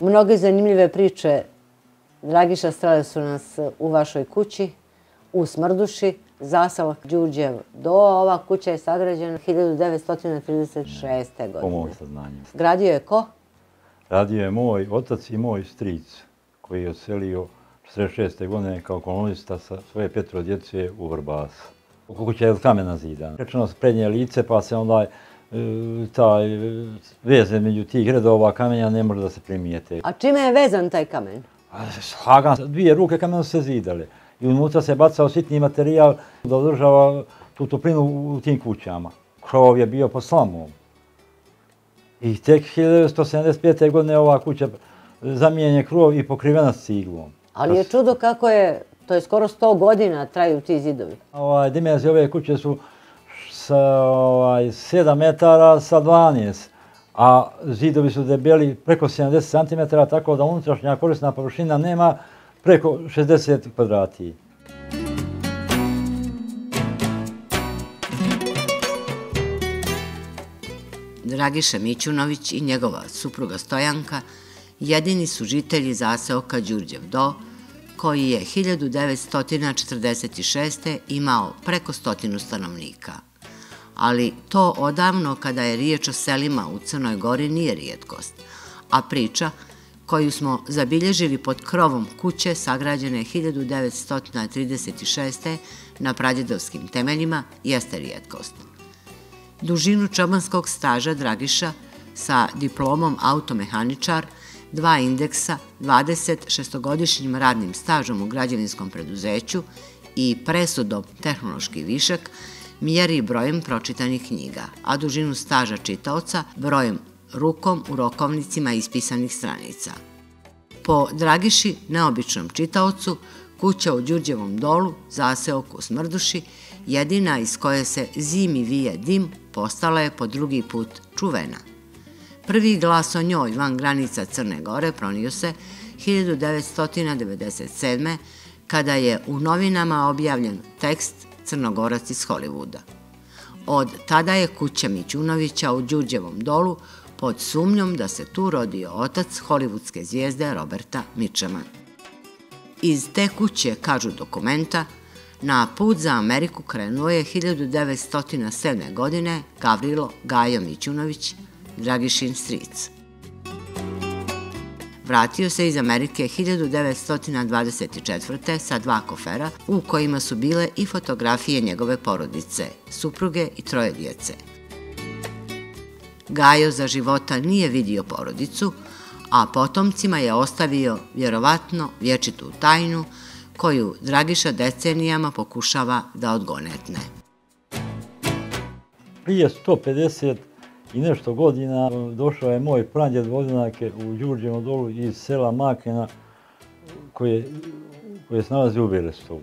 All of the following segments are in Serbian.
Mnoge zanimljive priče, Dragiša, strale su nas u vašoj kući, u Smrduši, zaselak Đurđev do. Ova kuća je sagrađena 1936. godine. Po mojim saznanjima. Gradio je ko? Radio je moj otac i moj stric, koji je odselio 1946. godine kao kolonista sa svoje 5 djece u Vrbas. Kuća je od kamena zidana. Rečeno s prednje lice, pa se onda taj veze među tih redova kamenja ne može da se primijete. A čime je vezan taj kamen? Hagan, 2 ruke kamena su se zidale. I unutra se bacao sitni materijal da održava tu toplinu u tim kućama. Krov je bio pod slamom. I tek 1975. godine ova kuća zamijenjen krov i pokrivena s ciglom. Ali je čudo kako je, to je skoro 100 godina traju ti zidovi. Dimenzije ove kuće su sa 7 metara sa 12, a zidovi su debeli preko 70 cm, tako da unutrašnja korisna površina nema preko 60 kvadrati. Dragiša Mićunović i njegova supruga Stojanka jedini su žitelji zaseoka Đurđev Do, koji je 1946. imao preko 100 stanovnika. Ali to odavno, kada je riječ o selima u Crnoj Gori, nije rijetkost, a priča koju smo zabilježili pod krovom kuće sagrađene 1936. na pradjedovskim temeljima jeste rijetkost. Dužinu čobanskog staža Dragiša sa diplomom automehaničar, 2 indeksa, 26-godišnjim radnim stažom u građevinskom preduzeću i presudom tehnološki višak mjeri brojem pročitanih knjiga, a dužinu staža čitaoca brojem rukom u rokovnicima ispisanih stranica. Po Dragiši, neobičnom čitaocu, kuća u Đurđevom Dolu, zaseoku u Smrduši, jedina iz koje se zimi vije dim, postala je po drugi put čuvena. Prvi glas o njoj van granica Crne Gore pronio se 1997. kada je u novinama objavljen tekst Crnogorac iz Hollywooda. Od tada je kuća Mićunovića u Đurđevom Dolu pod sumnjom da se tu rodio otac hollywoodske zvijezde Roberta Mitchuma. Iz te kuće, kažu dokumenta, na put za Ameriku krenuo je 1907. godine Gavrilo Gajo Mićunović, Dragišin stric. Vratio se iz Amerike 1924. sa 2 kofera u kojima su bile i fotografije njegove porodice, supruge i 3 djece. Gajo za života nije vidio porodicu, a potomcima je ostavio vjerovatno vječitu tajnu koju Dragiša decenijama pokušava da odgonetne. Prije 150 i nešto godina došao je moj pradjed Vozinake u Đurđevom Dolu iz sela Makena koje se nalazi u Berestovu.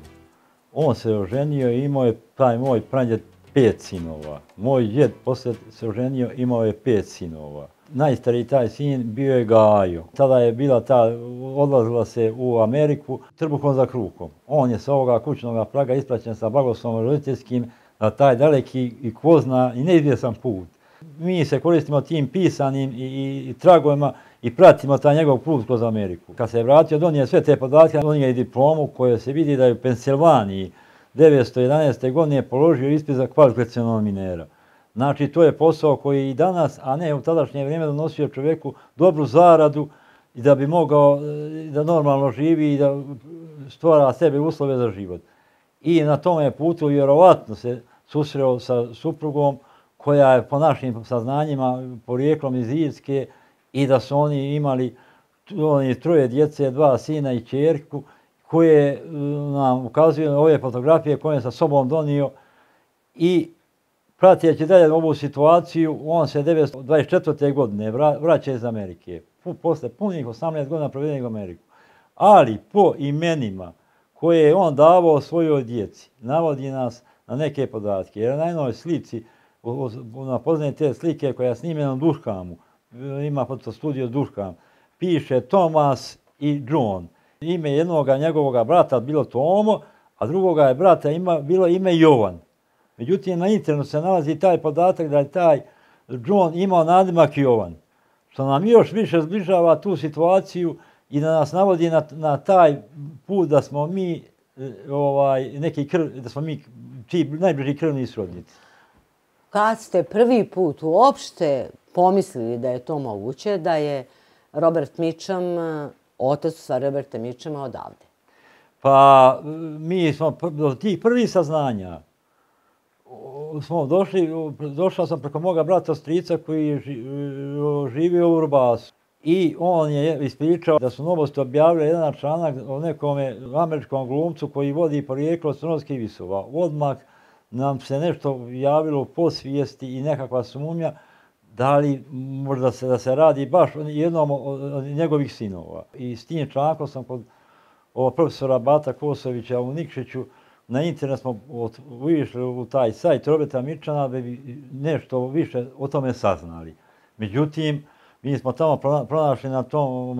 On se oženio i imao je taj moj pradjed 5 sinova. Moj djed poslije se oženio, imao je 5 sinova. Najstariji taj sin bio je Gajo. Tada je bila odlazila se u Ameriku trbuhom za kruhom. On je sa ovoga kućnog praga ispraćen sa blagoslovom roditeljskim na taj daleki i ko zna i neizvjesan put. Mi se koristimo tim pisanim i tragovima i pratimo taj njegov put kroz Ameriku. Kad se je vratio, donio sve te podatke, donio i diplomu koje se vidi da je u Pensilvaniji 1911. godine položio ispit za kvalifikacionog minera. Znači, to je posao koji i danas, a ne u tadašnje vrijeme, donosio čovjeku dobru zaradu i da bi mogao da normalno živi i da stvara sebi uslove za život. I na tome putu vjerovatno se susreo sa suprugom koja je po našim saznanjima porijeklom iz Irske i da su oni imali 3 djece, 2 sina i ćerku, koje nam ukazuju ove fotografije koje je sa sobom donio i pratijeći dalje ovu situaciju, on se 1924. godine vraća iz Amerike, posle punih 18 godina provedenih u Ameriku. Ali po imenima koje je on davao svojoj djeci, navodi nas na neke podatke. Jer na jednoj slici, na poznaje te slike koja je snimljena u Duškamu, ima fotostudio Duškam, piše Thomas i John. Ime jednoga njegovog brata bilo Tomo, a drugoga je brata bilo ime Jovan. Međutim, na internetu se nalazi taj podatak da je taj John imao nadimak Jovan. što nam još više zbližava tu situaciju i da nas navodi na taj put da smo mi da smo mi najbliži krvni srodnici. Kad ste prvi put uopšte pomislili da je to moguće, da je Robert Mitchum, otac u stvari Roberta Mitchuma, odavde? Pa mi smo do tih prvih saznanja smo došao sam preko moga brata strica koji je živio u Urbasu. I on je ispričao da su Novosti objavili jedan članak o nekom američkom glumcu koji vodi porijeklo od Crnogorskih Visova. Odmah nam se nešto javilo u podsvijesti i nekakva sumnja da li možda da se radi baš o jednom od njegovih sinova. I s tim člankom sam kod profesora Bata Kosovića u Nikšiću na internet smo ušli u taj sajt Roberta Mitchuma da bi nešto više o tome saznali. Međutim, mi smo tamo pronašli na tom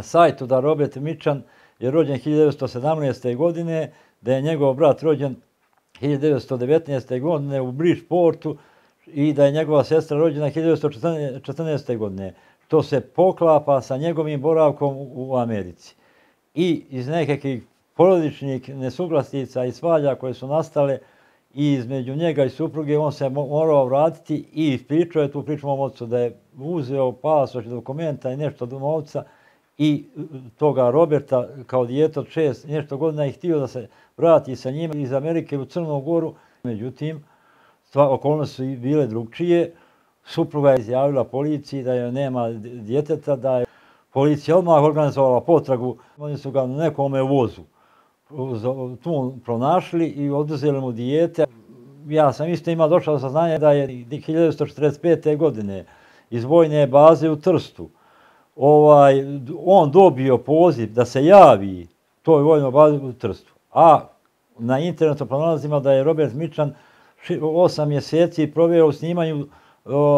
sajtu da Robert Mitchum je rođen 1917. godine, da je njegov brat rođen 1919. godine u Bridgeportu i da je njegova sestra rođena 1914. godine, što se poklapa sa njegovim boravkom u Americi. I iz nekakvih porodičnih nesuglasica i svađa koje su nastale i između njega i supruge, on se morao vratiti i ispričao je tu priču mom ocu da je uzeo pasoš, dokumenta i nešto od novca i toga Roberta kao dijete od 6 nešto godina i htio da se vrati sa njima iz Amerike u Crnu Goru. Međutim, okolnosti su bile drugčije. Supruga je izjavila policiji da joj nema djeteta, da je policija odmah organizovala potragu. Oni su ga na nekome vozu tu pronašli i oduzeli mu dijete. Ja sam isto došao do saznanja da je 1945. godine iz vojne baze u Trstu on dobio poziv da se javi toj vojnoj bazi u Trstu. A na internetu pronalazimo da je Robert Mitchum 8 mjeseci proveo u snimanju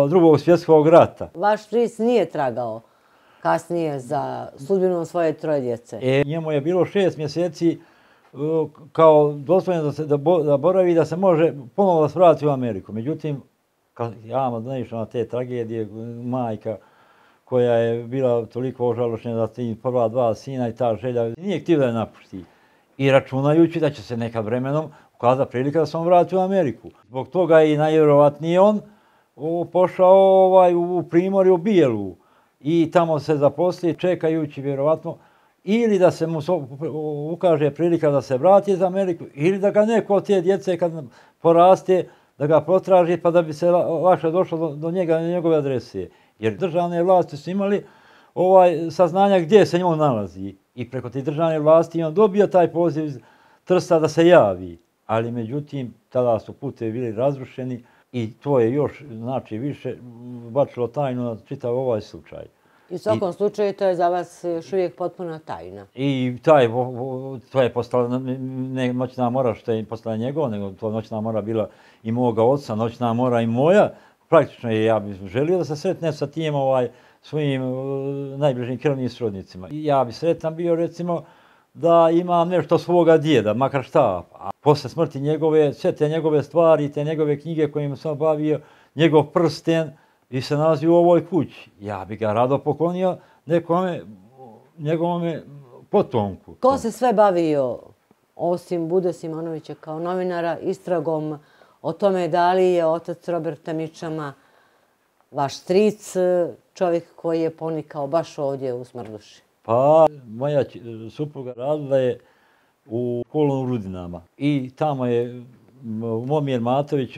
Drugog svjetskog rata. Vaš stric nije tragao kasnije za sudbinom svoje troje djece? Njemu je bilo 6 mjeseci kao dozvoljeno da boravi, da se može ponovo da se vrati u Ameriku. Međutim, ja vam naišao na te tragedije, majka koja je bila toliko ožalošćena da ti prva 2 sina i ta želja nije htio da je napusti. I računajući da će se nekad vremenom ukazati prilika da se on vrati u Ameriku. Zbog toga i najvjerovatnije on pošao u Primorje u Bijelu i tamo se zaposli čekajući vjerovatno ili da se mu ukaže prilika da se vrati iz Ameriku ili da ga neko od te djece kad poraste da ga potraži pa da bi se lakše došlo do njega i njegove adrese. Jer državne vlasti su imali saznanja gdje se on nalazi i preko te državne vlasti on dobio taj poziv iz Trsta da se javi. Ali međutim, tada su putevi bili razrušeni i to je još više bačilo tajnu na čitav ovaj slučaj. I u svakom slučaju to je za vas još uvijek potpuna tajna. I to je postala ne noćna mora što je postala njegova, nego to noćna mora bila i moga oca, noćna mora i moja. Praktično ja bih želio da se sretnem sa tim svojim najbližim krvnim srodnicima. Ja bih sretan bio recimo da imam nešto svoga djeda, makar šta. A posle smrti njegove, sve te njegove stvari, te njegove knjige kojima sam bavio, njegov prsten, i se nalazi u ovoj kući. Ja bih ga rado poklonio njegovome potomku. Ko se sve bavio, osim Bude Simonovića kao novinara, istragom o tome da li je otac Roberta Mitchuma vaš stric, čovjek koji je ponikao baš ovdje u Smrduši? Pa, moja supruga radila je u Kolonu u Rudinama i tamo je Momir Matović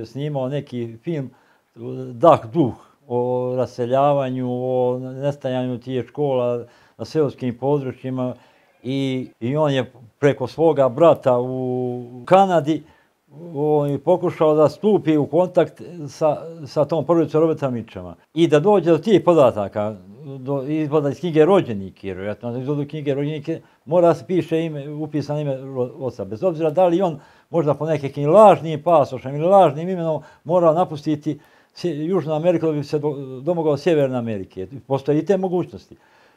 snimao neki film Dah duh, o raseljavanju, o nestajanju tih škola na seoskim područjima i on je preko svoga brata u Kanadi pokušao da stupi u kontakt sa tom porodicom Roberta Mitchuma i da dođe do tih podataka, izvoda iz knjige rođenike, jer vjerojatno izvodu knjige rođenike mora se piše upisano ime oca. Bez obzira da li on možda po nekim lažnim pasošem ili lažnim imenom morao napustiti Južnu Ameriku da bi se domogao Sjeverne Amerike. Postoje i te mogućnosti.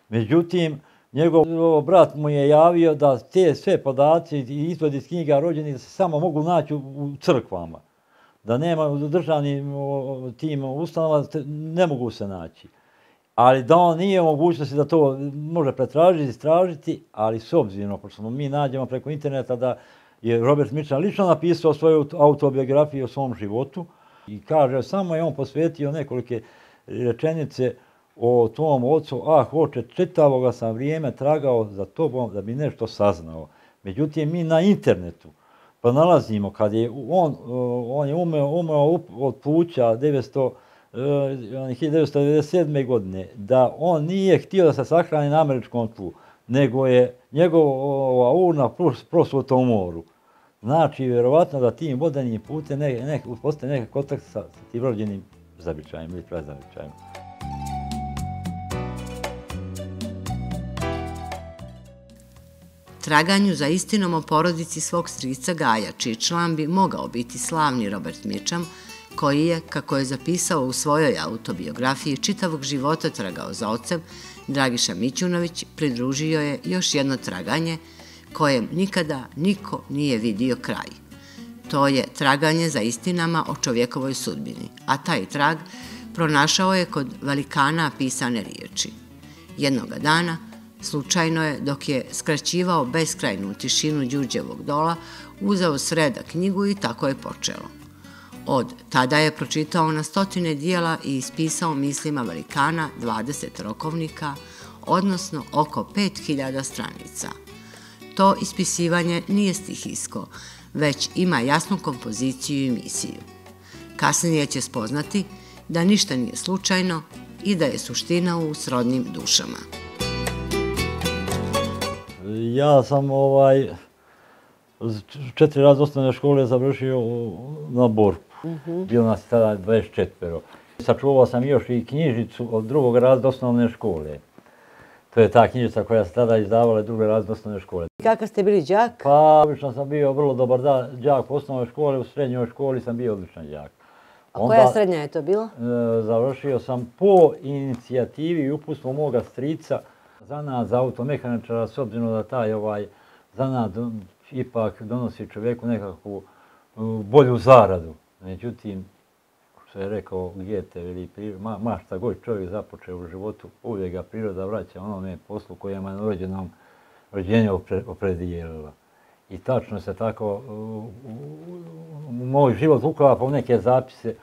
Međutim, njegov brat mu je javio da te sve podaci i izvodi iz knjiga rođenih se samo mogu naći u crkvama. da nema u državnim tim ustanovama, ne mogu se naći. Ali da on nije u mogućnosti da to može pretražiti, istražiti, ali s obzirom, pošto mi nađemo preko interneta da je Robert Mitchum lično napisao svoju autobiografiju o svom životu i kaže, samo je on posvetio nekolike rečenice o tom ocu, oče, čitavoga sam vrijeme tragao za tobom da bi nešto saznao. Međutim, mi na internetu pa nalazimo, kad je on je umeo od pluća 1997. godine, da on nije htio da se sahrani na američkom tlu, nego je njegova urna prosuta u moru. Znači, vjerovatno da tim vodenim putem postoje neki kontakt sa tim rođenim zavičajem ili prazavičajem. Traganju za istinom o porodici svog strica Gaja, čiji član bi mogao biti slavni Robert Mitchum, koji je, kako je zapisao u svojoj autobiografiji, čitavog života tragao za ocem, Dragiša Mićunović pridružio je još jedno traganje kojem nikada niko nije vidio kraj. To je traganje za istinama o čovjekovoj sudbini, a taj trag pronašao je kod velikana pisane riječi. Jednoga dana, slučajno je, dok je skraćivao beskrajnu tišinu Đurđevog dola, uzeo s reda knjigu i tako je počelo. Od tada je pročitao na stotine dijela i ispisao mislima velikana 20 rokovnika, odnosno oko 5000 stranica. To ispisivanje nije stihijsko, već ima jasnu kompoziciju i misiju. Kasnije će spoznati da ništa nije slučajno i da je suština u srodnim dušama. Ja sam 4 razreda osnovne škole završio na Borku. Bilo nas tada 24. Sačuvao sam još i knjižicu od 2. razreda osnovne škole. To je ta knjižica koja se tada izdavala 2. razreda osnovne škole. Kakav ste bili đak? Pa, obično sam bio vrlo dobar đak u osnovnoj školi, u srednjoj školi sam bio odličan đak. A koja srednja je to bila? Završio sam po inicijativi i uputstvu moga strica zanat za automehaničara, s obzirom da taj zanat ipak donosi čovjeku nekakvu bolju zaradu. Međutim, što je rekao Goethe, ma šta god čovjek započeo u životu, uvijek ga priroda vraća onome poslu kojima je rođenje opredijelila. I tačno se tako moj život uklapa u neke zapise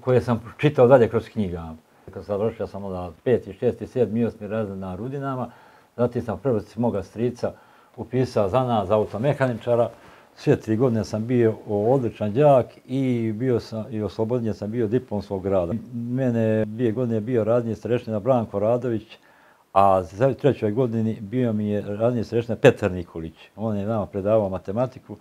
koje sam čitao dalje kroz knjigama. Kad završio sam onda 5., 6., 7., 8. razred na Rudinama, zatim sam prvo moga strica upisao zanat za automehaničara. Sve 3 godine sam bio odličan đak i oslobođen sam bio diplomskog rada. Mene 2 godine bio radni starešina Branko Radović, a za 3. godini bio mi je radni starešina Petar Nikolić. On je nama predavao matematiku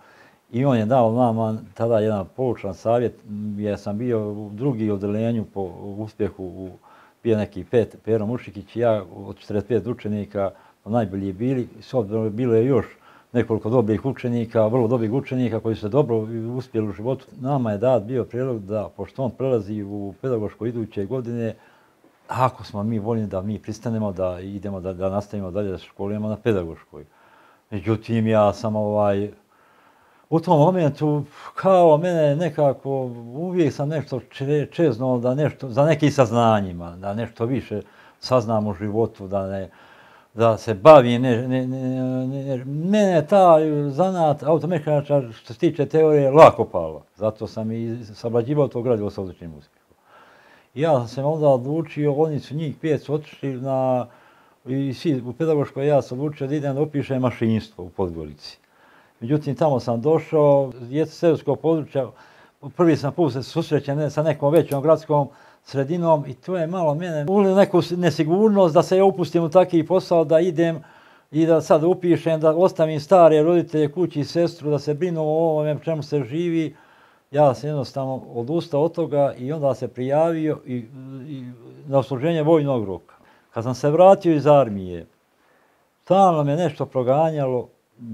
i on je dao nama tada jedan poučan savjet, jer sam bio u 2. odeljenju po uspjehu, bio neki Pero Mušikić i ja od 45 učenika, najbolji bili, s obzirom bilo je još nekoliko dobrih učenika, vrlo dobrih učenika koji su dobro uspjeli u životu. Nama je dat bio prijedlog da, pošto on prelazi u pedagošku iduće godine, ako smo mi voljni da mi pristanemo da idemo da nastavimo dalje da školujemo na pedagoškoj. Međutim, ja sam u tom momentu, kao mene nekako, uvijek sam nešto čeznuo za nekim saznanjima, da nešto više saznam u životu, da se bavim. Mene ta zanat automehaničar, što se tiče teorije, lako pala. Zato sam i savlađivao to gradivo sa odličnim uspjehom. Ja sam onda odlučio, oni su njih 5 su otišli i svi u pedagoškoj, ja sam odlučio da idem da upišem mašinstvo u Podgorici. Međutim, tamo sam došao, iz seoskog područja, prvi sam put se susrećen sa nekom većom gradskom sredinom i to je malo mene ulilo neku nesigurnost da se ja upustim u taki posao, da idem i da sad upišem, da ostavim stare roditelje, kući i sestru, da se brinu o ovome čemu se živi. Ja sam jednostavno odustao od toga i onda se prijavio na odsluženje vojnog roka. Kad sam se vratio iz armije, stalno me nešto proganjalo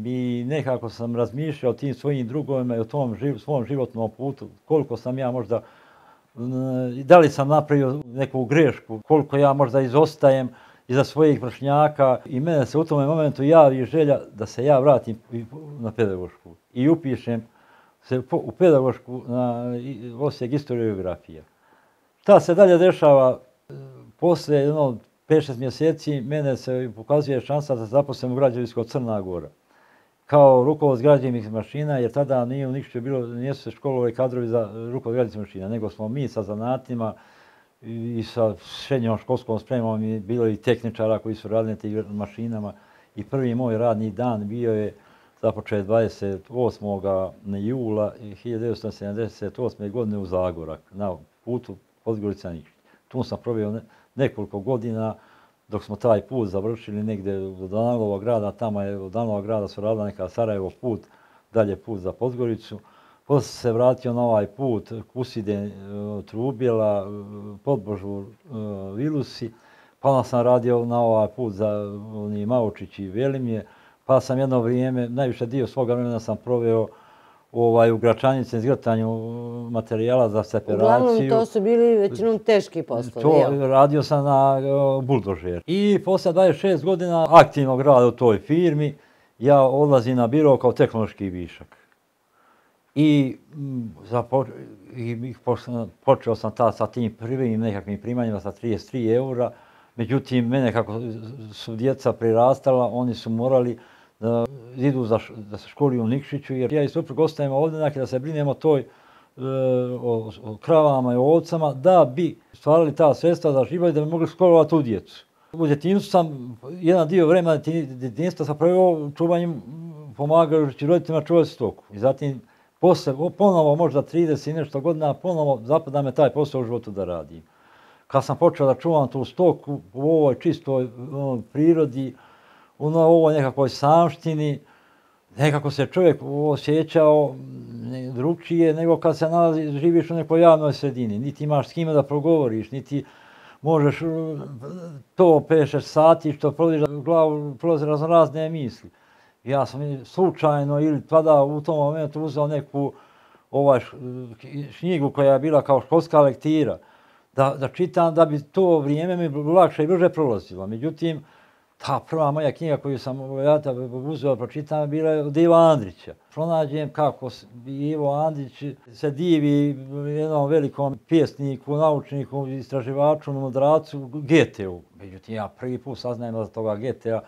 i nekako sam razmišljao o tim svojim drugovima i o tom svom životnom putu, koliko sam ja možda, da li sam napravio neku grešku, koliko ja možda izostajem iza svojih vršnjaka i mene se u tom momentu javi želja da se ja vratim na pedagošku i upišem se u pedagošku na osjek istorije i geografija. Šta se dalje dešava? Posle 5-6 mjeseci mene se pokazuje šansa da se zaposlim u građevinsko Crna Gora. Kao rukovod građevinskih mašina, jer tada nije u Nikšiću bilo, nisu se školovali kadrovi za rukovod građevinskih mašina, nego smo mi sa zanatima i sa srednjom školskom spremom i bilo i tehničara koji su radili na tim mašinama. I prvi moj radni dan bio je započet 28. jula 1978. godine u Zagorak, na putu Podgorica-Nikšić. Tu sam proveo nekoliko godina dok smo taj put završili negdje do Danilovog grada. Tamo je od Danilovog grada su radila neka Sarajevo put, dalje put za Podgoricu. Poslije se vratio na ovaj put Kuside, Trubjela, Podbožur, Vilusi. Pa onda sam radio na ovaj put za Maučić i Velimje. Pa sam jedno vrijeme, najviše dio svoga vremena sam proveo u Gračanici, izgrtanju materijala za separaciju. Uglavnom to su bili većinom teški poslovi. Radio sam na buldožer. I posle 26 godina aktivnog rada u toj firmi, ja odlazim na biro kao tehnološki višak. I počeo sam sa tim prvim nekakvim primanjima sa 33 eura. Međutim, mene kako su djeca prirastala, oni su morali da idu da se školi u Nikšiću, jer ja i suprug ostajemo ovdje da se brinemo o kravama i ovcama, da bi stvarali ta sredstva za život i da bi mogli školovati tu djecu. U djetinjstvu sam, jedan dio vremena djetinjstva sam proveo čuvanjem, pomagajući roditeljima čuvati stoku. I zatim, posle, ponovo možda 30 i nešto godina, ponovo zapada me taj posao u životu da radim. Kad sam počeo da čuvam tu stoku u ovoj čistoj prirodi, u ovoj nekakvoj samštini, nekako se čovjek osjećao drugčije nego kad se živiš u nekoj javnoj sredini. Niti imaš s kime da progovoriš, niti možeš to pešeš sati što prolaziš glavu, prolazi razne misli. Ja sam slučajno ili tada u tom momentu uzeo neku knjigu koja je bila kao školska lektira, da čitam da bi to vrijeme mi lakše i brže prolazilo. Međutim, ta prva moja knjiga koju sam uzeo pročitam bila je od Iva Andrića. Pronađem kako Ivo Andrić se divi jednom velikom pjesniku, naučniku, istraživaču, mudracu, Goetheu. Međutim, ja prvi put saznajem za toga Goethea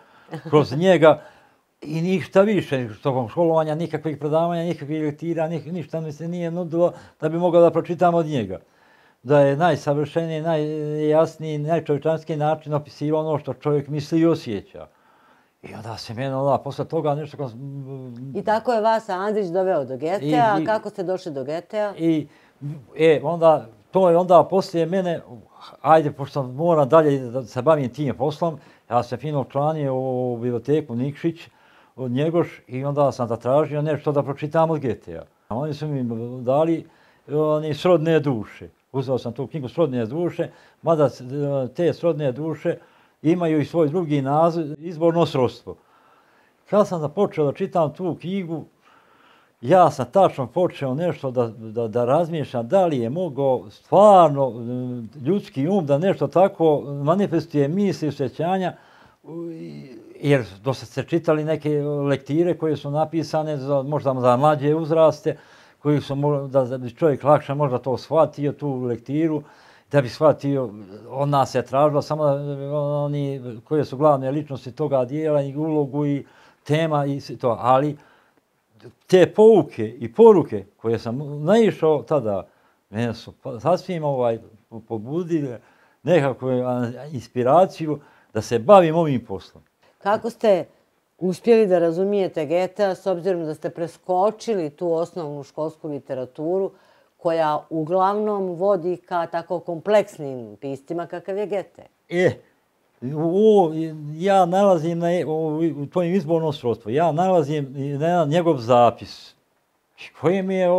kroz njega i ništa više tokom školovanja, nikakvih predavanja, nikakvih lektira, ništa mi se nije nudilo da bi mogao da pročitam od njega. Da je najsavršeniji, najjasniji, najčovječanskiji način opisivao ono što čovjek misli i osjeća. I onda se mene posle toga nešto... I tako je vas Andrić doveo do Goethea, a kako ste došli do Goethea? To je onda poslije mene, ajde, pošto moram dalje da se bavim tim poslom, ja sam fino učlanio u biblioteku Nikšić od Njegoš i onda sam zatražio nešto da pročitam od Goethea. Oni su mi dali Srodne duše. Uzeo sam tu knjigu Srodne duše, mada te Srodne duše imaju i svoj drugi naziv, Izborno srodstvo. Kad sam počeo da čitam tu knjigu, ja sam tačno počeo nešto da razmišljam da li je mogao stvarno ljudski da nešto tako manifestuje misli i osjećanja, jer dosta ste čitali neke lektire koje su napisane možda za mlađe uzraste, koji su da bi čovjek lakše možda to shvatio, tu lektiru, da bi shvatio, od nas je tražilo samo oni koje su glavne ličnosti toga dijela i ulogu i tema i to, ali te pouke i poruke koje sam naišao tada, mene su sasvim pobudile nekakvu inspiraciju da se bavim ovim poslom. Kako ste uspjeli da razumijete Goethea s obzirom da ste preskočili tu osnovnu školsku literaturu koja uglavnom vodi ka tako kompleksnim piscima kakav je Goethe? Ja nalazim u tvojim Izbornom srodstvu, ja nalazim njegov zapis koji mi je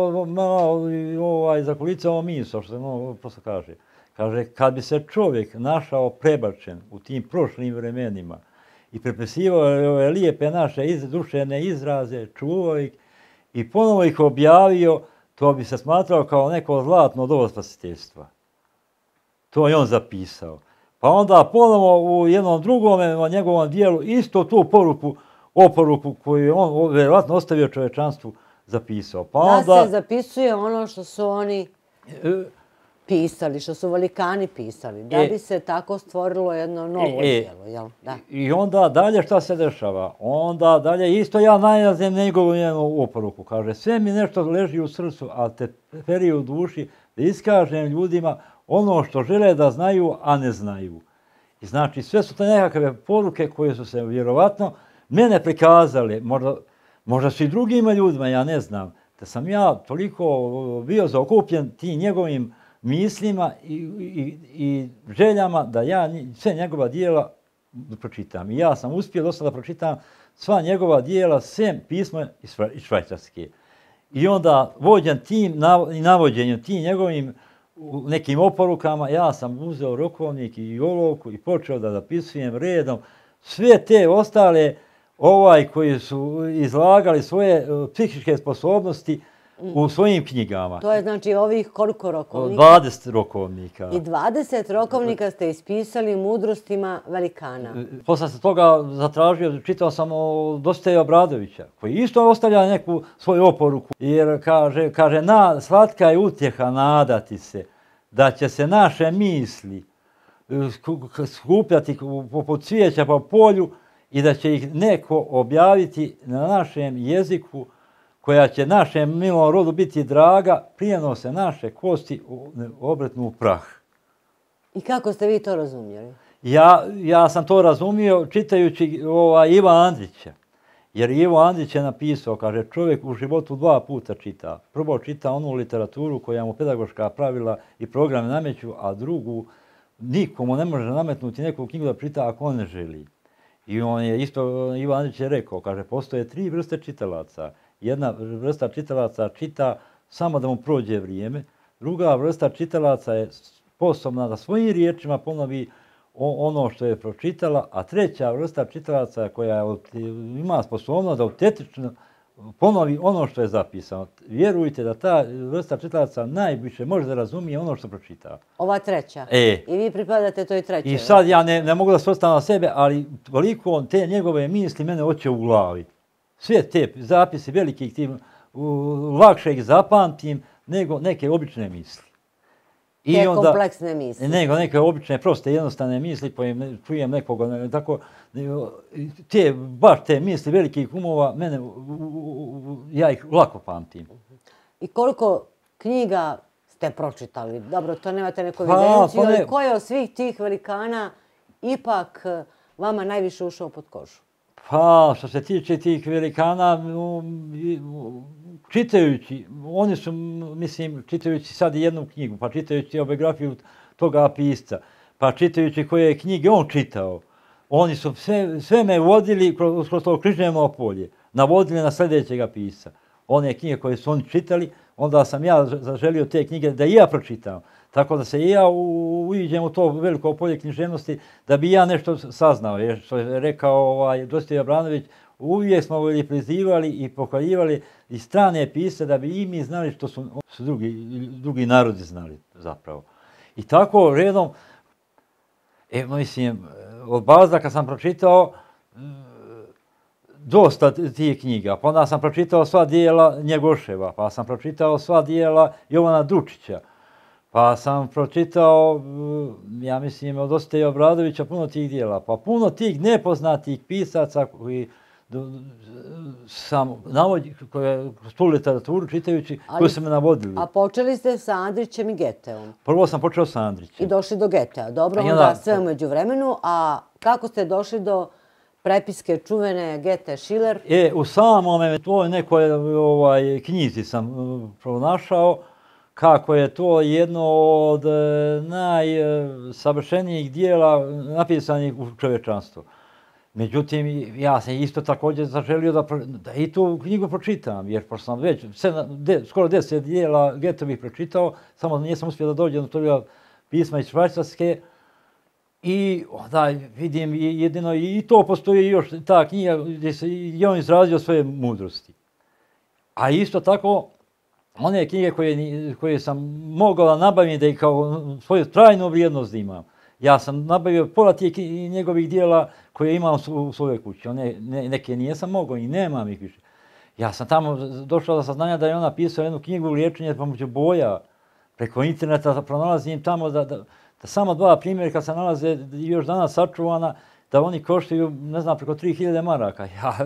zakulicao misao, što se prosto kaže. Kaže, kad bi se čovjek našao prebačen u tim prošlim vremenima i prepisivao ove lijepe naše duševne izraze, čuvao ih i ponovo ih objavio, to bi se smatrao kao neko zlatno doba spasiteljstva. To je on zapisao. Pa onda ponovo u jednom drugom njegovom dijelu isto tu oporuku koju je on vjerovatno ostavio čovječanstvu zapisao. Pa Da onda, se zapisuje ono što su oni pisali, što su velikani pisali, da bi se tako stvorilo jedno novo djelo, jel? Da. I onda dalje šta se dešava? Onda dalje isto ja najlazim njegovu njenu oporuku. Kaže, sve mi nešto leži u srcu, a te peri u duši da iskažem ljudima ono što žele da znaju, a ne znaju. I znači, sve su to nekakve poruke koje su se vjerovatno mene prikazale, možda su i drugima ljudima, ja ne znam, da sam ja toliko bio zaokupljen tim njegovim mislima i željama da ja sve njegova dijela pročitam. I ja sam uspio do sada pročitam sva njegova dijela, sem pisma iz Švajcarske. I onda vođen tim i navođenjem tim njegovim nekim oporukama, ja sam uzeo rokovnik i olovku i počeo da zapisujem redom sve te ostale koji su izlagali svoje psihičke sposobnosti u svojim knjigama. To je znači ovih koliko rokovnika? 20 rokovnika. I 20 rokovnika ste ispisali mudrostima velikana. Posle se toga zatražio, čitao sam o Dositeja Obradovića, koji isto ostavlja neku svoju oporuku, jer kaže, slatka je utjeha nadati se da će se naše misli skupljati poput cvijeća po polju i da će ih neko objaviti na našem jeziku, koja će našem milom rodu biti draga, prijenose naše kosti obretnu u prah. I kako ste vi to razumjeli? Ja sam to razumio čitajući Iva Andrića. Jer Ivo Andrić je napisao, kaže, čovjek u životu 2 puta čita. Prvo čita onu literaturu koja mu pedagoška pravila i programe nameću, a drugu nikomu ne može nametnuti neku knjigu da čita ako on ne želi. I on je isto, Ivo Andrić je rekao, kaže, postoje 3 vrste čitalaca. Jedna vrsta čitalaca čita samo da mu prođe vrijeme, druga vrsta čitalaca je sposobna da svojim riječima ponovi ono što je pročitala, a treća vrsta čitalaca koja ima sposobnost da autentično ponovi ono što je zapisano. Vjerujte da ta vrsta čitalaca najviše može da razumije ono što pročita. Ova treća? I vi pripadate toj trećoj? I sad ja ne mogu da se ostavim na sebe, ali toliko te njegove misli mene hoće u glavi. Sve te zapise velikih tim, lakše ih zapamtim nego neke obične misli. Te kompleksne misli. Nego neke obične, proste, jednostavne misli koje čujem nekoga, tako, baš te misli velikih umova, ja ih lako pamtim. I koliko knjiga ste pročitali? Dobro, to nemate neku evidenciju, ali ko je od svih tih velikana ipak vama najviše ušao pod kožu? Pa, što se tiče tih velikana, čitajući, oni su, mislim, čitajući sad jednu knjigu, pa čitajući biografiju toga pisca, pa čitajući koje knjige on čitao, oni su sve me vodili kroz to književno polje, navodili na sljedećega pisca. One knjige koje su oni čitali, onda sam ja zaželio te knjige da i ja pročitam. Tako da se i ja uđem u to veliko polje književnosti da bi ja nešto saznao. Jer što je rekao Dositej Obradović, uvijek smo prizivali i pohvaljivali i strane pisce da bi i mi znali što su drugi narodi znali zapravo. I tako redom, mislim, od Balzaka sam pročitao dosta tih knjiga. Pa onda sam pročitao sva dijela Njegoševa, pa sam pročitao sva dijela Jovana Dučića. Pa sam pročitao, ja mislim, od Dositeja Obradovića puno tih dijela. Pa puno tih nepoznatih pisaca koji sam navodio, kroz tu literaturu čitajući, koji su me navodili. A počeli ste sa Andrićem i Geteom? Prvo sam počeo sa Andrićem. I došli do Getea. Dobro, onda sve umeđu vremenu. A kako ste došli do prepiske čuvene Gete Šiler? U samome toj nekoj knjizi sam pronašao kako je to jedno od najsavršenijih dijela napisanih u čovječanstvu. Međutim, ja sam isto također zaželio da i tu knjigu pročitam, jer pošto sam već skoro 10 dijela Getovih pročitao, samo nisam uspio da dođem do toga pisma iz Švajcarske. I onda vidim jedino i to postoji još ta knjiga gdje je on izrazio svoje mudrosti. A isto tako, one knjige koje sam mogao da nabavim da ih kao svoju trajnu vrijednost imam. Ja sam nabavio pola tih njegovih dijela koje imam u svojoj kući. Neke nisam mogao i nemam ih više. Ja sam tamo došao do saznanja da je ona pisala jednu knjigu liječenje pomoću boja. Preko interneta pronalazim tamo da samo 2 primjerka se nalaze još danas sačuvana, da oni koštaju, ne znam, preko 3000 maraka. Ja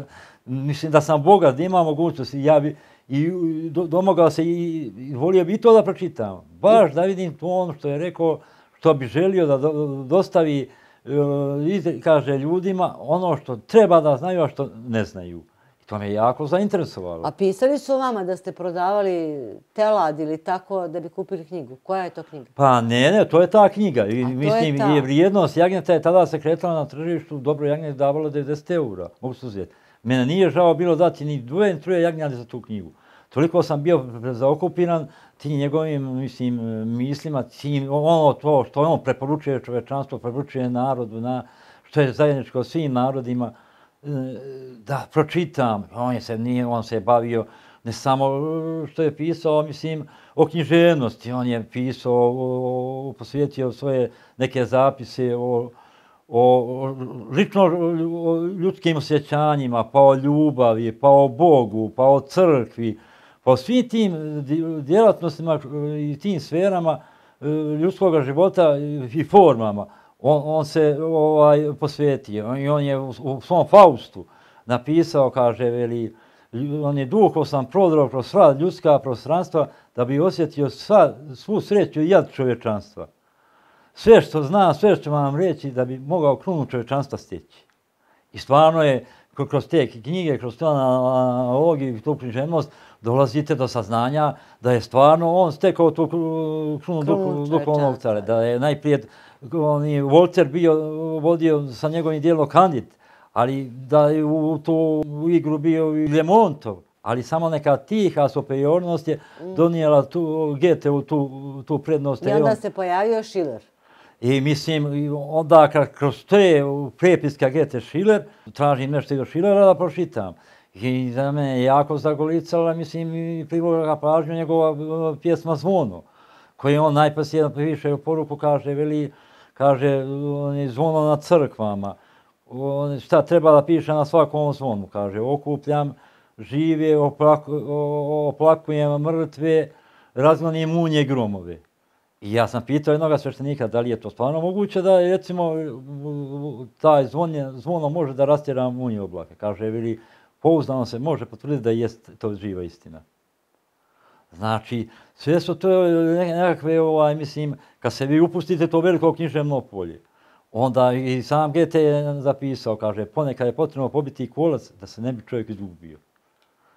mislim da sam bogat, da imam mogućnost. Ja bi i domogao se i volio bi to da pročitam. Baš da vidim to ono što je rekao, što bi želio da dostavi, kaže ljudima ono što treba da znaju, a što ne znaju. I to me jako zainteresovalo. A pisali su vama da ste prodavali telad ili tako da bi kupili knjigu? Koja je to knjiga? Pa ne, to je ta knjiga. Mislim, je vrijednost jagnjeta je tada se kretala na tržištu, dobro jagnje je davalo 90 eura, mogu se uzeti. Mene nije žao bilo dati ni 2 ni 3 jagnjade za tu knjigu. Toliko sam bio zaokupiran tim njegovim, mislim, mislima, ono to što on preporučuje čovečanstvo, preporučuje narodu, što je zajedničko svim narodima, da pročitam. On se bavio ne samo što je pisao, mislim, o književnosti, on je pisao, posvetio svoje neke zapise o lično ljudskim osjećanjima, pa o ljubavi, pa o Bogu, pa o crkvi, pa o svim tim djelatnostima i tim sferama ljudskog života i formama. On se posvetio i on je u svom Faustu napisao, kaže, veli, on je duhom sam prodrao kroz sva ljudska prostranstva da bi osjetio svu sreću i jad čovječanstva. Sve što zna, sve što vam reći da bi mogao krunu čovječanstva steći. I stvarno je kroz te knjige, kroz tu analogiju i tu književnost dolazite do saznanja da je stvarno on stekao tu krunu duhovnog cara. Da je najprije Volter vodio sa njegovim dijelom Kandid, ali da je u tu igru bio i Lemontov. Ali samo neka tiha superiornost je donijela Goethe-u tu prednost. I onda se pojavio Schiller. I mislim, onda kroz te prepiske Goethe Schiller, tražim nešto i do Schillera da pročitam. I za mene je jako zagolicala, mislim, i privukla pažnju njegova pjesma Zvono, koji on najposlije piše u poruku, kaže, zvono na crkvama. Šta treba da piše na svakom zvonu, kaže, okupljam žive, oplakujem mrtve, razgonim munje gromove. I ja sam pitao jednog sveštenika da li je to stvarno moguće da, recimo, taj zvono može da rastjera munje oblake. Kaže, veli, pouzdano se može potvrditi da je to živa istina. Znači, sve su to nekakve, mislim, kad se vi upustite to veliko književno polje, onda i sam Goethe je zapisao, kaže, ponekad je potrebno pobiti kolac da se ne bi čovjek izgubio.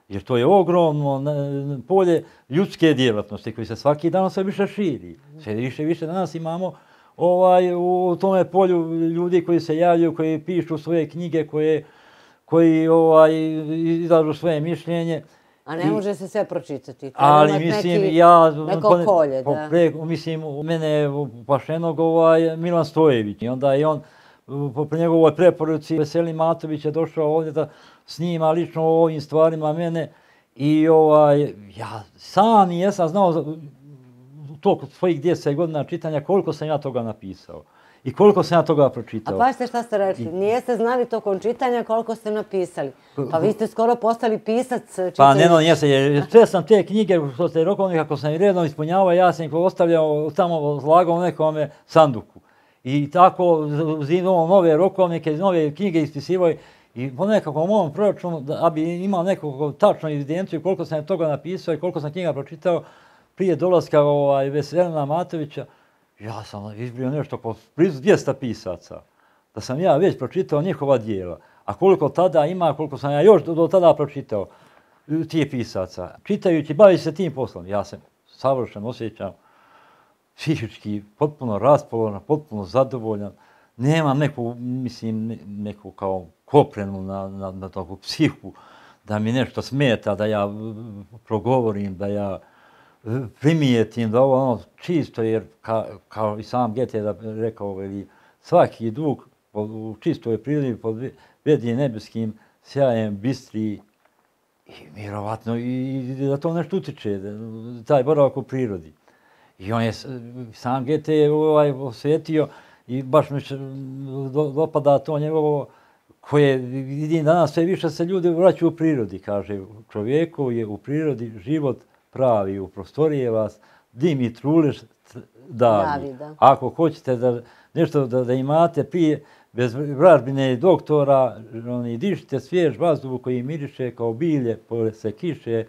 Jer to je ogromno polje ljudske djelatnosti koji se svaki dan sve više širi. Sve više danas imamo u tome polju ljudi koji se javljaju, koji pišu svoje knjige, koji izlažu svoje mišljenje. A ne može se sve pročitati. Ali mislim, ja... Neko polje, da. Mislim, mene je pašenog Milan Stojević. I onda je on, po njegovoj preporuci, Veselin Matović je došao ovdje da snima lično o ovim stvarima mene. I ja sam jesam znao toliko svojih 10 godina čitanja koliko sam ja toga napisao. I koliko sam ja toga pročitao. A pašte šta ste rekli, nijeste znali tokom čitanja koliko ste napisali. Pa vi ste skoro postali pisac čitajući. Pa jesam, jer sve sam te knjige, što ste rokovni, kako sam i redno ispunjavao, ja sam ih ostavljao tamo, zlagao nekome sanduku. I tako uzimao nove rokovnike, nove knjige ispisivao i po nekakvom mom proračunu, da bi imao nekakvu tačnu evidenciju koliko sam toga napisao i koliko sam knjiga pročitao prije dolaska Veselina Matovića, ja sam izbrio nešto po blizu 200 pisaca, da sam ja već pročitao njihova dijela. A koliko tada ima, koliko sam ja još do tada pročitao tih pisaca. Čitajući, bavi se tim poslom. Ja se savršeno osjećam psihički potpuno raspoložen, potpuno zadovoljan. Nemam neku kao koprenu na toku psihu, da mi nešto smeta, da ja progovorim, da ja primijetim da ovo čisto, jer kao i sam Goethe je rekao, svaki duh u čistoj prirodi pod vedije nebeskim sjajem bistri i vjerovatno i da to nešto utiče, taj boravak u prirodi. I on je, sam Goethe je osvetio i baš mi se dopada to njegovo koje vidim danas sve više se ljudi vraćaju u prirodi, kaže čovjeku je u prirodi život pravi, u prostorije vas dim i trulež davi. Ako hoćete da nešto da imate prije, bez vražbine doktora, dišite svjež vazduh koji miriše kao bilje posle kiše,